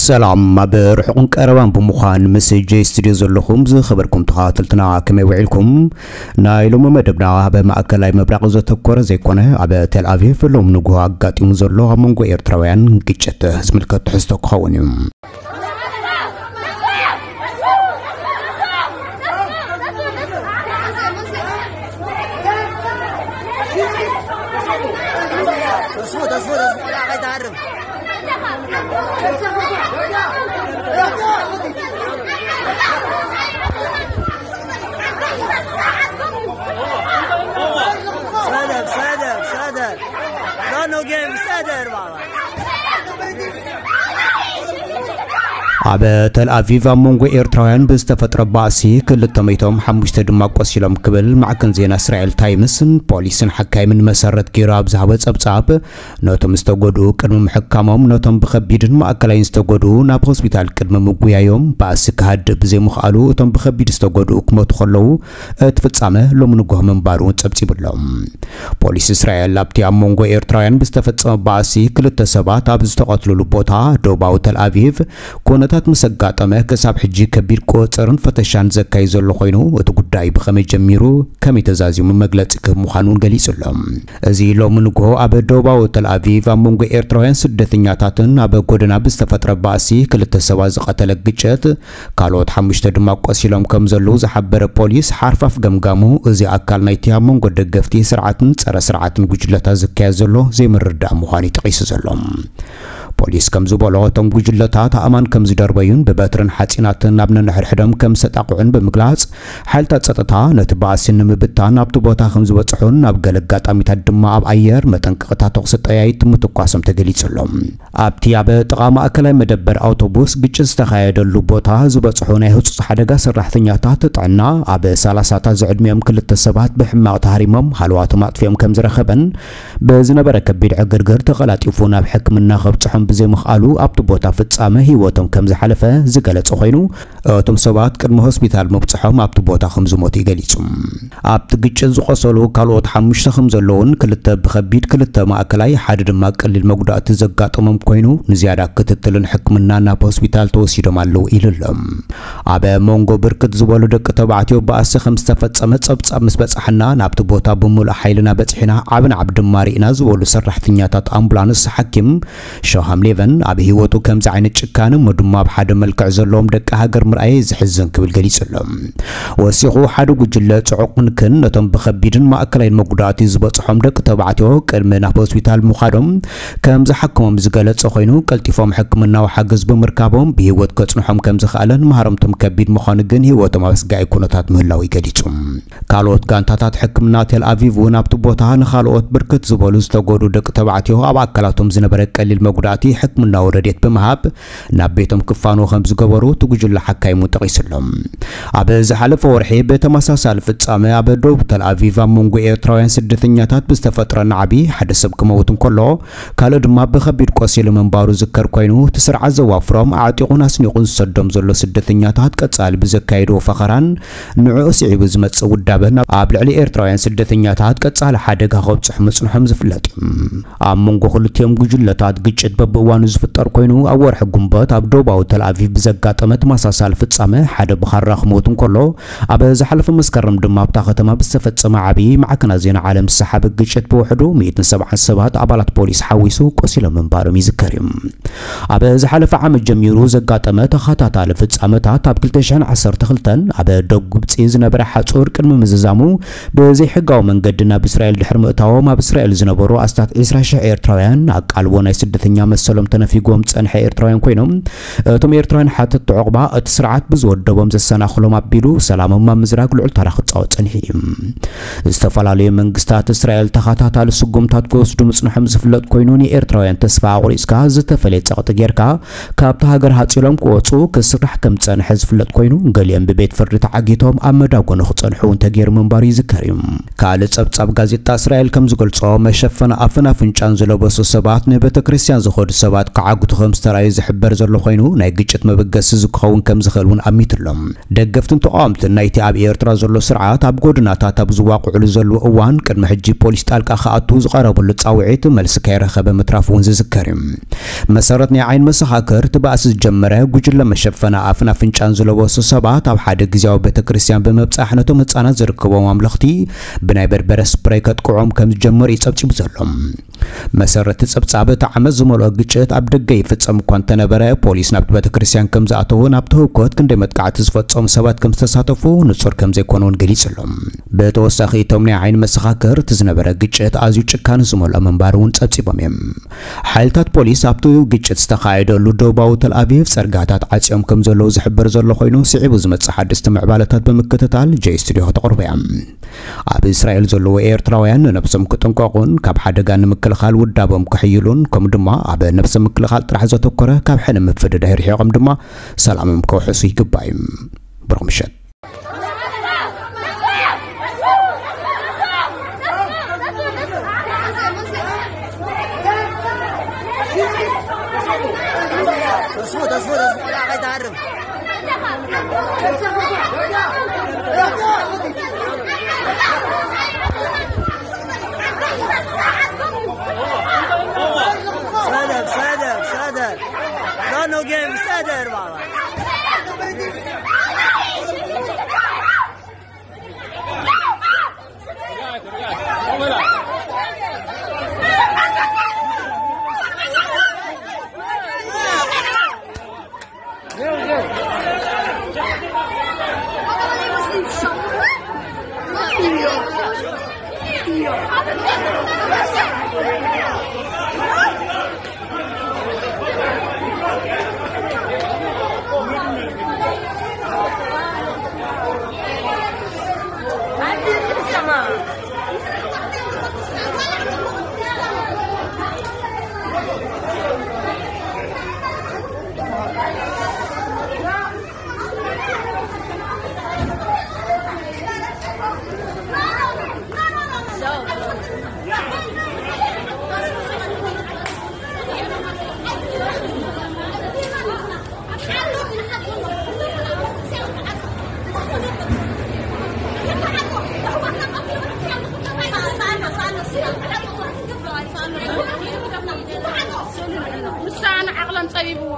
ሰላም፣ ኣብ ርሑቕን ቀረባን ብምዃን ምስ ጄ ስቱድዮ ዘለኹም ዝኸበርኩም ተኸታተልትና ከመይ ውዒልኩም? ናይ ሎሚ መደብና ኣብ ማእከላይ ምብራቕ ዘተኮረ ዘይኮነ፣ ኣብ ቴል ኣቪቭ ሎም ንግሆ ኣጋጢሙ ዘሎ ኣብ መንጎ ኤርትራውያን ግጭት ዝምልከት ትሕዝቶ ክኸውን እዩ። ኣብ ተል ኣቪቭ ኣብ መንጎ ኤርትራውያን ብዝተፈጥረ ባእሲ ክልተ መይቶም ሓሙሽተ ድማ ቆሲሎም ክብል ማዕከን ዜና እስራኤል ታይምስን ፖሊስን ሓካይምን መሰረት ገይሩ ኣብ ዝሃቦ ጸብጻብ፣ ነቶም ዝተጎድኡ ቅድሚ ምሕካሞም ነቶም ብኸቢድን ማእከላይን ዝተጎድኡ ናብ ሆስፒታል ቅድሚ ምጉያዮም ባእሲ ክሃድእ ብዘይምኽኣሉ እቶም ብኸቢድ ዝተጎድኡ ክሞቱ ከለዉ እቲ ፍጻመ ሎሚ ንግሆ ምንባሩ ጸብጺቡሎም። ፖሊስ እስራኤል ኣብቲ ኣብ መንጎ ኤርትራውያን ብዝተፈጸመ ባእሲ ክልተ ሰባት ኣብ ዝተቐትሉሉ ቦታ ደቡባዊ ተል ኣቪቭ ኩነታት ምስ ኣጋጠመ ክሳብ ሕጂ ከቢድ ቁጽርን ፈተሻን ዘካይ ዘሎ ኮይኑ እቲ ጉዳይ ብኸመይ ጀሚሩ ከመይ ተዛዚሙ መግለጺ ክህብ ምዃኑ እውን ገሊጹ ኣሎ። እዚ ሎሚ ንግሆ ኣብ ደቡባዊ ተል ኣቪቭ ኣብ መንጎ ኤርትራውያን ስደተኛታትን ኣብ ጎደና ብዝተፈጥረ ባእሲ ክልተ ሰባት ዝቐተለ ግጭት ካልኦት ሓሙሽተ ድማ ቆሲሎም ከም ዘለዉ ዝሓበረ ፖሊስ ሓርፋፍ ገምጋሙ፣ እዚ ኣካል ናይቲ ኣብ መንጎ ደገፍቲ ስርዓትን ጸረ ስርዓትን ጉጅለታት ዝካየድ ዘሎ ዘይምርዳእ ምዃኑ እዩ ጠቒሱ ዘሎ። ፖሊስ ከም ዝበሎ እቶም ጉጅለታት ኣእማን ከም ዝደርበዩን ብበትርን ሓጺናትን ናብ ነንሕድሕዶም ከም ዝተጣቕዑን ብምግላጽ፣ ሓይልታት ጸጥታ ነቲ ባእሲ ንምብታን ኣብቲ ቦታ ከም ዝበጽሑን ኣብ ገለ ኣጋጣሚታት ድማ ኣብ ኣየር መጠንቀቕታ ተኹሲ ጠያይት ምትኳሶም ተገሊጹ ኣሎ። ኣብቲ ኣብ ጥቓ ማእከላይ መደበር ኣውቶቡስ ግጭት ዝተኻየደሉ ቦታ ዝበጽሑ ናይ ህጹጽ ሓደጋ ሰራሕተኛታት ጥዕና ኣብ ሰላሳታት ዝዕድሚኦም ክልተ ሰባት ብሕማቕ ተሃሪሞም ሃለዋቶም ኣጥፊኦም ከም ዝረኸበን ብዝነበረ ከቢድ ዕግርግር ተቐላጢፉ ናብ ሕክምና ከብጽሖም ብዘይምኽኣሉ ኣብቲ ቦታ ፍጻመ ህይወቶም ከም ዝሓለፈ ዝገለጸ ኮይኑ፣ እቶም ሰባት ቅድሚ ሆስፒታል ምብጽሖም ኣብቲ ቦታ ከም ዝሞቱ እዩ ገሊጹ። ኣብቲ ግጭት ዝቆሰሉ ካልኦት ሓሙሽተ ከም ዘለዉን ክልተ ብኸቢድ ክልተ ማእከላይ ሓደ ድማ ቀሊል መጉዳእቲ ዘጋጠሞም ኮይኑ ንዝያዳ ክትትልን ሕክምና ናብ ሆስፒታል ተወሲዶም ኣለዉ ኢሉ ኣሎ። ኣብ መንጎ ብርክት ዝበሉ ደቂ ተባዕትዮ ባእሲ ከም ዝተፈጸመ ጸብጻብ ምስ በጻሕና ናብቲ ቦታ ብምሉእ ሓይልና በጺሕና ዓቢ ናዕቢ ድማ ርኢና ዝበሉ ሰራሕተኛታት ኣምቡላንስ ሓኪም ሾሃም ሌቨን ኣብ ህይወቱ ከምዚ ዓይነት ጭካነ እሞ ድማ ኣብ ሓደ መልክዕ ዘለዎም ደቂ ሃገር ምርኣየ ዘሕዝን ክብል ገሊጹ ኣሎ። ወሲኹ ሓደ ጉጅለ ጽዑቕ ክንክን ነቶም ብኸቢድን ማእከላይን መጉዳእቲ ዝበጽሖም ደቂ ተባዕትዮ ቅድሚ ናብ ሆስፒታል ምዃዶም ከም ዝሓክሞም ዝገለጸ ኮይኑ ቀልጢፎም ሕክምናዊ ሓገዝ ብምርካቦም ብህይወት ከጽንሖም ከም ዝኽኣለን ማህረምቶም ከቢድ ምዃኑ ግን ህይወቶም ኣብ ኣስጋኢ ኩነታት ምህላው እዩ ገሊጹ። ካልኦት ጋንታታት ሕክምና ቴል ኣቪቭ እውን ኣብቲ ቦታ ንኻልኦት ብርክት ዝበሉ ዝተጎዱ ደቂ ተባዕትዮ ኣብ ኣካላቶም ዝነበረ ቀሊል መጉዳእቲ ሕክምናዊ ረድኤት ብምሃብ ናብ ቤቶም ክፋንዎ ከም ዝገበሩ እቲ ጉጅለ ሓካይሙ ጠቒሱ ኣሎ። ኣብ ዝሓለፈ ወርሒ ብተመሳሳሊ ፍጻመ ኣብ ደቡብ ተል ኣቪቭ ኣብ መንጎ ኤርትራውያን ስደተኛታት ብዝተፈጥረ ናዕቢ ሓደ ሰብ ክመውት እንከሎ ካልእ ድማ ብኸቢድ ቆሲሉ ምንባሩ ዝከር ኮይኑ እቲ ስርዓት ዘዋፍሮም ኣዕጢቑን ኣስኒቑን ዝሰዶም ዘሎ ስደተኛታት ቀጻሊ ብዘካየድዎ ፈኸራን ንዕኡ ስዒቡ ዝመጽእ ውዳበን ኣብ ልዕሊ ኤርትራውያን ስደተኛታት ቀጻሊ ሓደጋ ከብጽሑ ምጽንሖም ዝፍለጥ እዩ። ኣብ መንጎ ክልቲኦም ጉጅለታት ግጭት በብእዋኑ ዝፍጠር ኮይኑ ኣብ ወርሒ ጉንበት ኣብ ደቡባዊ ተል ኣቪቭ ብዘጋጠመ ተመሳሳሊ ፍጻመ ሓደ ብኻራ ክሞት እንከሎ ኣብ ዝሓለፈ መስከረም ድማ ኣብታ ከተማ ብዝተፈጸመ ዓቢ ማዕከናት ዜና ዓለም ዝሰሓበ ግጭት ብውሕዱ ሚእትን ሰብዓን ሰባት ኣባላት ፖሊስ ሓዊሱ ቆሲሎም ምንባሮም ይዝከር እዩ። ኣብ ዝሓለፈ ዓመት ጀሚሩ ዘጋጠመ ተኸታታሊ ፍጻመታት ኣብ ክልተ ሽሕን ዓሰርተ ክልተን ኣብ ደቡብ ግብጺ ዝነበረ ሓጹር ቅድሚ ምዝዛሙ ብዘይሕጋዊ መንገዲ ናብ እስራኤል ድሕሪ ምእታዎም ኣብ እስራኤል ዝነበሩ ኣስታት ዕስራ ሽሕ ኤርትራውያን ኣቃልቦ ናይ ስደተኛ መሰሎም ተነፊጎም ጸንሐ ኤርትራውያን ኮይኖም እቶም ኤርትራውያን ሓተቲ ዑቕባ እቲ ስርዓት ብዝወደቦም ዘሰናኽሎም ኣቢሉ ሰላሞም ኣብ ምዝራግ ልዑል ተራ ክጻወት ጸኒሑ እዩ። ዝተፈላለዩ መንግስታት እስራኤል ተኸታታሊ ስጉምታት ክወስዱ ምጽንሖም ዝፍለጥ ኮይኑ ንኤርትራውያን ተስፋ ኣቑሪጽካ ዝተፈለየ ጸቕጢ ጌርካ ካብቲ ሃገር ሃጺሎም ክወጹ ክስራሕ ከም ዝጸንሐ ዝፍለጥ ኮይኑ ገሊኦም ብቤት ፍርዲ ተዓጊቶም ኣብ መዳጎኒ ክጸንሑ እውን ተገይሩ ምንባሩ ይዝከር እዩ። ካልእ ጸብጻብ ጋዜጣ እስራኤል ከም ዝገልጾ መሸፈኒ ኣፍን ኣፍንጫን ዝለበሱ ሰባት ንቤተ ክርስቲያን ዝኸዱ ሰባት ክዓግቱ ከም ዝተራእዩ ዝሕበር ዘሎ ኮይኑ፣ ናይ ግጭት መበገሲ ዝክኸውን ከም ዝኽእል እውን ኣሚቱ ኣሎ። ደገፍትን ተቃወምትን ናይቲ ኣብ ኤርትራ ዘሎ ስርዓት ኣብ ጎደናታት ኣብ ዝዋቅዑሉ ዘለዉ እዋን፣ ቅድሚ ሕጂ ፖሊስ ጣልቃ ክኣቱ ዝቐረበሉ ጻውዒት መልሲ ከይረኸበ ምትራፉ እውን ዝዝከር እዩ። መሰረት ናይ ዓይኒ መሰኻክር፣ እቲ ባእሲ ዝጀመረ ጉጅለ መሸፈኒ ኣፍን ኣፍንጫን ዝለበሱ ሰባት ኣብ ሓደ ግዝያዊ ቤተ ክርስቲያን ብምብጻሕ ነቶም ህጻናት ዝርከቦም ኣምለኽቲ ብናይ በርበረ ስፕሬይ ከጥቅዖም ከም ዝጀመሩ እዩ ጸብጺቡ ዘሎ። መሰረት እቲ ጸብጻብ፣ እቲ ዓመጽ ዝመልኦ ግጭት ኣብ ደገ ይፍጸም እኳ እንተነበረ፣ ፖሊስ ናብቲ ቤተ ክርስቲያን ከም ዝኣተወ፣ ናብቲ ህውከት ክንደይ መጥቃዕቲ ዝፈጸሙ ሰባት ከም ዝተሳተፉ ንጹር ከም ዘይኮነ እውን ገሊጹ ኣሎ። ብተወሳኺ፣ እቶም ናይ ዓይኒ መሰኻክር፣ እቲ ዝነበረ ግጭት ኣዝዩ ጭካነ ዝመልኦ ምንባሩ እውን ጸብጺቦም እዮም። ሓይልታት ፖሊስ ኣብቲ ግጭት ዝተኻየደሉ ደቡባዊ ተል ኣቪቭ ጸርጋታት ዓጽዮም ከም ዘለዉ ዝሕበር ዘሎ ኮይኑ፣ ስዒቡ ዝመጽእ ሓደስቲ ምዕባለታት ብምክትታል ጀይ ስቱዲዮ ከተቕርቦ እያ። ኣብ እስራኤል ዘለዉ ኤርትራውያን ንነብሶም ክጥንቀቑን ካብ ሓደጋ ንምክልኻል ውዳቦም ክሕይሉን፣ ከምኡ ድማ ኣብ ነብሰ ምክልኻል ጥራሕ ዘተኮረ ካብ ሕነ ምፍድዳይ ርሒቖም ድማ ሰላሞም ከውሕሱ ይግባእ እዩ። ብሩኽ ምሸት። سادر، سادر، سادر. لا، نو جيم، سادر بابا. ንሳ ንዓቕሎም ጸቢብዎ።